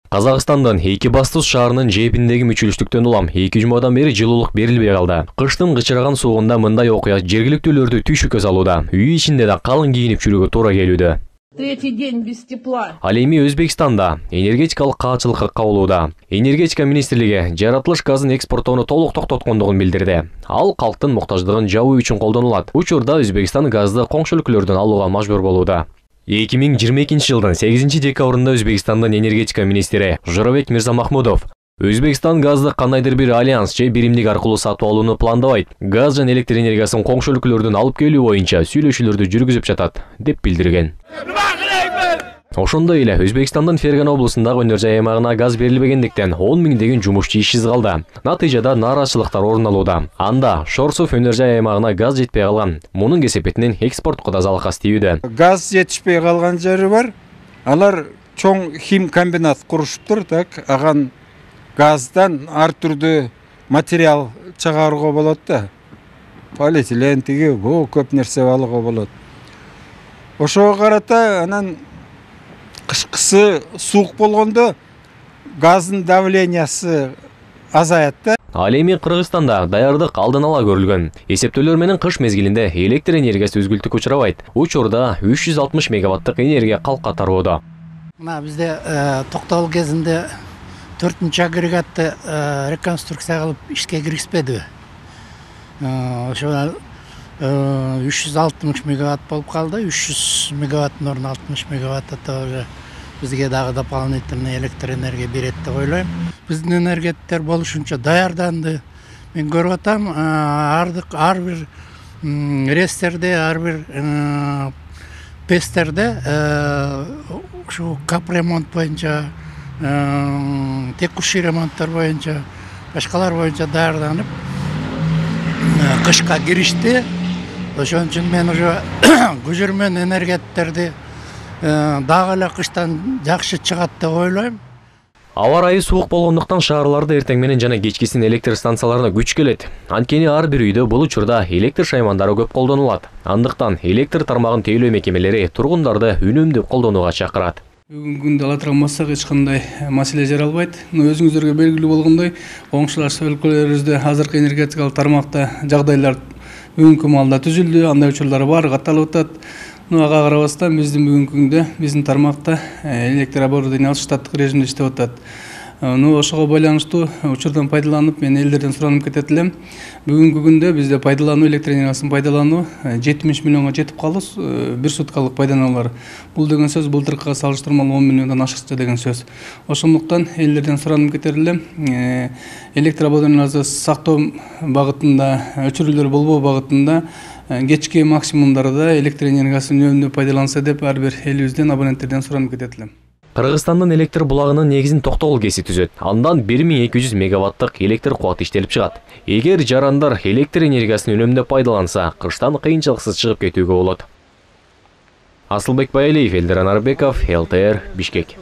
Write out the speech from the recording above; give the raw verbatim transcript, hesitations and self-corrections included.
Казакстандын Экибастуз шаарынын жээпиндеги мүчүлүштүктөн улам эки жумадан бери жылуулук берилбей калды. Кыштын кычыраган суыгында мындай окуя жергиликтүүлөрдү түйшүккө салууда. Үй ичинде да калың кийинип жүрүүгө туура келүүдө. Третий день без тепла. Ал эми Өзбекстанда энергетикалык каалчылыкка кабылууда. Энергетика министрлиги жаратылыш газын экспорттоону толук токтоткондугун билдирди. Ал калктын муктаждыгын жабуу үчүн колдонулат. Учурда Өзбекстан газды коңшу өлкөлөрдөн алууга мажбур болууда. эки миң жыйырма экинчи жылдын сегизинчи декабрында Өзбекстандын энергетика министри Жорабек Мирзамахмудов Өзбекстан газды кандайдыр бир альянс же биримдик аркылуу сатып алууну пландабайт. Газ жана электр энергиясын коңшу өлкөлөрдөн алып келүү боюнча сүйлөшүүлөрдү жүргүзүп жатат, деп билдирген. Ошондой эле Өзбекстандын Ферган облусундагы өнөр жай аймагына газ берилбегендиктен он миңдеген жумушчу ишсиз калды. Натыйжада нааразычылыктар орун алууда. Анда Шорсуф өнөр жай аймагына газ жетпей калган. Мунун кесепетинен экспортко да залкас тийүүдө. Газ жетишпей калган жери бар. Алар чоң хим комбинат курушуптур, так, аган газдан ар түрдүү материал чыгарууга болот да. Полиэтилен тиги, бу көп нерсе алууга болот. Ошого карата анан кышкысы суук болгондо газдын давлениясы азаят да. Ал эми Кыргызстанда даярдык алдын ала көрүлгөн. Эсептөөлөр менен кыш мезгилинде электр энергиясы үзгүлтүккө учурабайт. Учурда үч жүз алтымыш мегаваттык энергия калкка тарбоодо. Мына бизде токтогул кезинде төртүнчү агрегатты реконструкция кылып ишке киргизбедиби? Ошо үч жүз алтымыш мегаватт болуп калды. үч жүз мегаваттын ордуна алтымыш мегаватт тоже бизге дагы дополнительный электр энергия берет деп ойлойм. Биздин энергеттер болушунча даярданды. Мен көрүп атам, ар бир рестерде, ар бир пестерде ушу капремонт боюнча, текущий ремонттор боюнча, башкалар боюнча даярданып кышка киришти. Ошон үчүн мен уже көжөрмөн энергеттерди дагы эле кыштан жакшы чыгат деп ойлойм. Аба ырайы суук болгондуктан шаарларда эртең менен жана кечкисин электр станцияларына күч келет. Анткени ар бир үйдө бул учурда электр шаймандары көп колдонулат. Андыктан электр тармагын тейлөө мекемелери тургундарды үнөмдүү колдонууга чакырат. Бүгүнкү күндө ала турган болсок эч кандай маселе жаралбайт. Өзүңүздөргө белгилүү болгондой, коңшулаш өлкөлөрүбүздө азыркы энергетикалык тармакта жагдайлар бүгүнкү маалда түзүлдү, андай учурлар баары катталып атат. Ага карабастан биздин бүгүнкү күндө биздин тармакта электр оборудование штаттык режимде иштеп атат. Ну ошого байланыштуу учурдан пайдаланып мен элдерден суранып кетет элем. Бүгүнкү күндө бизде пайдалануу электр энергиясын пайдалануу жетимиш миллионго жетип калды, бир суткалык пайдалануулар. Бул деген сөз былтыркыга салыштырмалуу он миллиондон ашыкча деген сөз. Ошондуктан элдерден суранып кетер элем. Электр оборудованияларды сактоо багытында, өчүрүүлөр болбоо багытында кечки максимумдарда электр энергиясын үнөмдүү пайдаланса деп ар бир элибизден абоненттерден суранып кетет элем. Кыргызстандын электр булагынын негизин Токтогул кеси түзөт. Андан бир миң эки жүз мегаваттык электр кубаты иштелип чыгат. Эгер жарандар электр энергиясын үнөмдүү пайдаланса, кыштан кыйынчылыксыз чыгып кетүүгө болот. Асылбек Байалиев, Элдер Анарбеков, эл тэ эр, Бишкек.